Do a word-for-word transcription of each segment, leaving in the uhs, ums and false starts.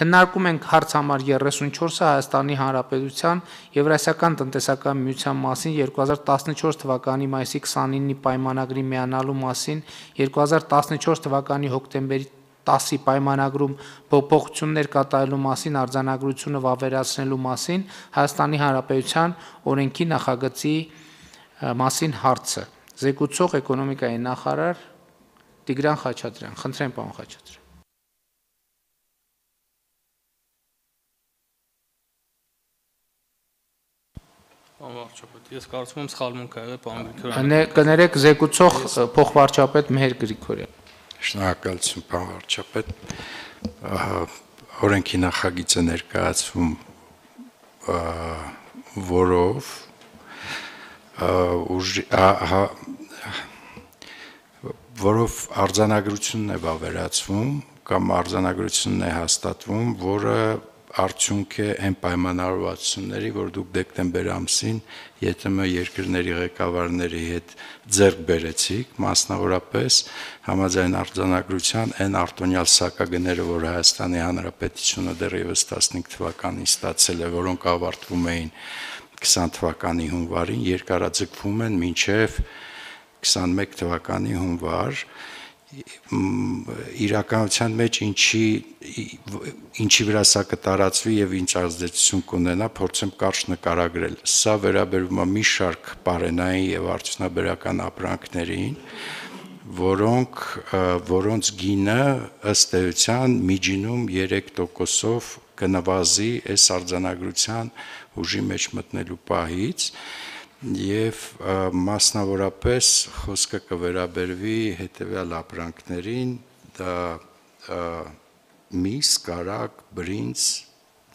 Քննարկում ենք հարց համար երեսունչորսը Հայաստանի Հանրապետության Եվրասիական տնտեսական միության մասին երկու հազար տասնչորս թվականի մայիսի քսանինի պայմանագրի միանալու մասին, երկու հազար տասնչորս թվականի հոկտեմբերի տասի պայմանագրում փոփոխություններ կատարելու մասին արձանագրությունը վավերացնելու մասին Հայաստանի Հանրապետության օրենքի նախագծի մասին հարցը։ Զեկուցող էկոնոմիկայի նախարար Տիգրան Խաչատրյան, խնդրեմ պարոն Խաչատրյան։ Ես կարծում եմ սխալմունք ա եղել, պարոն Գրիգորյան։ Կներեք զեկուցող փոխվարչապետ Մեհեր Գրիգորյան։ Շնորհակալություն, պարոն վարչապետ։ Օրենքի նախագիծը ներկայացվում, որով որով արձանագրությունն է վավերացվում կամ արձանագրությունն է հաստատվում, որը արդյունք է այն պայմանավորվածությունների, որ դուք դեկտեմբեր ամսին ԵՏՄ երկրների ղեկավարների հետ ձեռք բերեցիք, մասնավորապես համաձայն արձանագրության այն արտոնյալ սակագները, որ Հայաստանի Հանրապետությունը դեռևս տասնհինգ թվականին ստացել է, որոնք ավարտվում էին քսան թվականի հունվարին, երկարաձգվում են մինչև քսանմեկ թվականի հունվար, իրականության մեջ ինչի ինչի վրա սա կտարածվի եւ ինչ ազդեցություն կունենա, փորձեմ կարճ նկարագրել։ Սա վերաբերում է մի շարք պարենային եւ արդյունաբերական ապրանքներին, որոնք որոնց գինը ըստ էության միջինում երեք տոկոսով կնվազի այս արձանագրության ուժի մեջ մտնելու պահից եւ մասնավորապես խոսքը կվերաբերվի հետեւյալ ապրանքներին, դա միս, կարագ, բրինձ,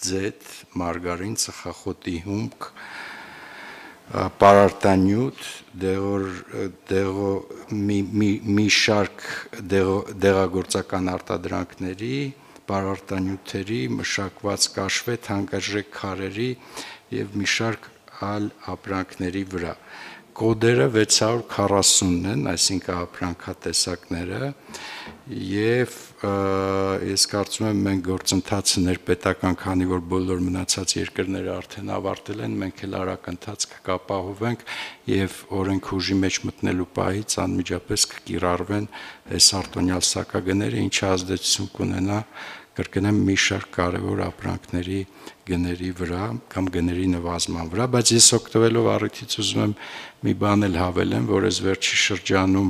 ձեթ, մարգարին, ծխախոտի հումք, պարարտանյութ, մի շարք դեղագործական արտադրանքների, պարարտանյութերի, մշակված կաշվե, թանկարժեք քարերի եւ մի շարք այլ ապրանքների վրա։ Կոդերը վեց հարյուր քառասունն են, այսինքն ապրանքատեսակները, եւ ես կարծում եմ մենք գործընթացը ներպետական, քանի որ բոլոր մնացած երկրները արդեն ավարտել են, մենք էլ արագ ընթացք կապահովենք եւ օրենք ուժի մեջ մտնելու պահից անմիջապես կկիրառվեն այս արտոնյալ սակագները, ինչը ազդեցություն կունենա կրկնեմ մի շարք կարևոր ապրանքների գների վրա կամ գների նվազման վրա, բայց ես օգտվելով առիթից ուզում եմ մի բան էլ հավելեմ, որ այս վերջի շրջանում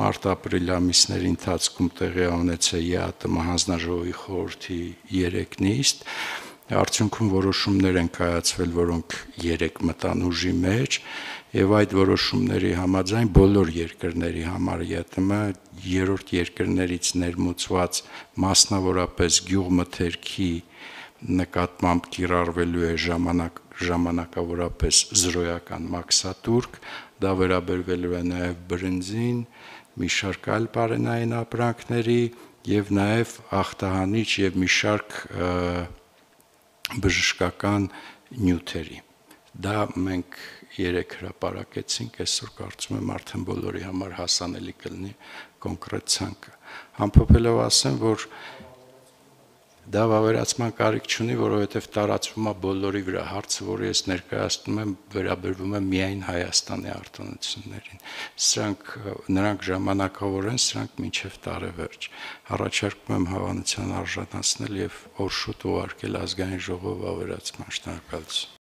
մարտ-ապրիլ ամիսների ընթացքում տեղի ունեցել է ԵԱՏՄ հանձնաժողովի խորհրդի երեք նիստ, արդյունքում որոշումներ են կայացվել, որոնք երեք մտան ուժի մեջ, եւ այդ որոշումների համաձայն բոլոր երկրների համար ԵԱՏՄ երրորդ երկրներից ներմուծված մասնավորապես գյուղմթերքի նկատմամբ կիրառվելու է ժամանակ ժամանակավորապես զրոյական մաքսատուրք, դա վերաբերվելու է նաեւ բրինձին, մի շարք այլ պարենային ապրանքների եւ նաեւ ախտահանիչ եւ մի շարք բժշկական նյութերի։ Դա մենք երեք հրապարակեցինք, այսօր կարծում եմ արդեն բոլորի համար հասանելի կլինի կոնկրետ ցանկը։ Ամփոփելով ասեմ, որ դա վավերացման կարիք չունի, որովհետև տարածվում է բոլորի վրա, հարցը, որը ես ներկայացնում եմ, վերաբերվում է միայն Հայաստանի արտոնություններին։ Սրանք նրանք ժամանակավոր են, սրանք մինչև տարեվերջ։ Առաջարկում եմ հավանության արժանացնել եւ օր շուտ ուղարկել ազգային ժողով վավերացման։ Շնորհակալություն։